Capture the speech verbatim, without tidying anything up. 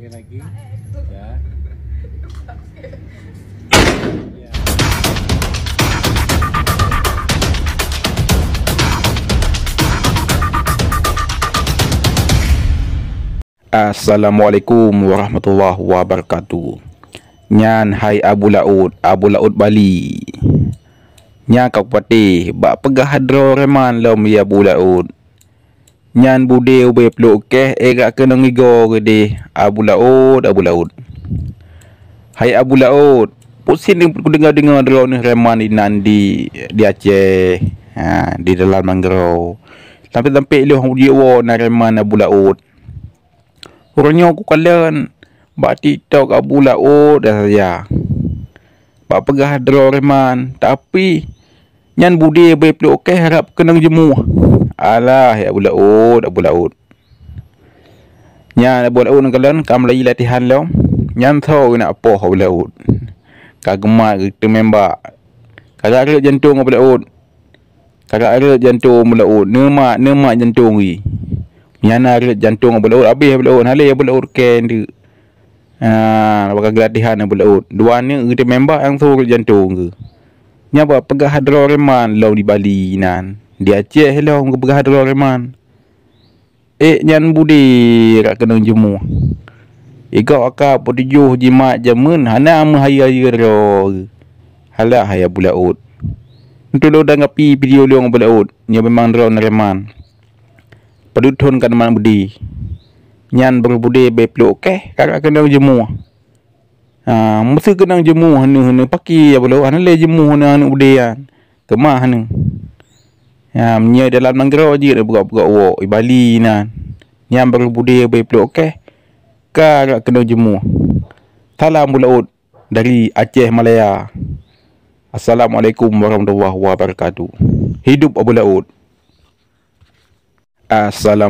Lagi. Ya. Assalamualaikum warahmatullahi wabarakatuh. Nyan hai Abu Laôt, Abu Laôt Bali. Nyan ka kupatéh bak peugah droe reman lom ya Abu Laôt. Nyan budé ubé pluek keh, ék ka keunong igoe geudeh, Abu Laôt, Abu Laôt. Hai Abu Laôt, pusing kudeungoe-deungoe droeneuh reman inan di, di Aceh, ha, di dalam nanggroe. Sampai-sampai lheueh ujeue woe na reman Abu Laôt. Uroe nyoe kukalon bak TikTok Abu Laôt dah saja. Bak peugah droe reman, tapi nyan budé ubé pluek keh harab keunong jeumuh. Alah, ya Abu Laôt, Abu Laôt. Nyan Abu Laôt neukalon ka meulayi latihan lom. Nyan tho geunak poh Abu Laôt. Ka geumat geuteumembak. Ka rhot jantong Abu Laôt. Ka rhot jantong Abu Laôt. Neumat, neumat jantong geuh. Nyan na rhot jantong Abu Laôt, abéh Abu Laôt. Hana lé Abu Laôt keu nteuk. Ah, bak ka geulatihan Abu Laôt. Dua aneuk geuteumembak langsong rhot jantong geuh. Nyan bak peugah droe reman lom di Bali nan. Di Aceh lom geupeugah droe reman. Ék nyan budé harab keunong jeumuh. Igoe ka peutujoh jimat jamén hana meuhayeue-hayeue droe. Halah hai Abu Laôt. Tulông tanggapi video lôn Abu Laôt. Nyoe memang droe reman. Padub thon ka neumat budé. Nyan baru budé ubé pluek keh ka rhot keunong jeumuh. Ha, meuseu keunong jeumuh heuneuk-heuneuk paki ya Abu Laôt, hana lé jeumuh heuneuk-heuneuk budé nyan. Keumah heuneuk. Ha, meunyoe dalam nanggroe jeuet peugah-peugah woe, di Bali nan. Nyan baru budé ubé pluek keh ka rhot keunong jeumuh. Salam Abu Laôt dari Aceh Malaya. Assalamualaikum warahmatullahi wabarakatuh. Hidup Abu Laôt. Assalamu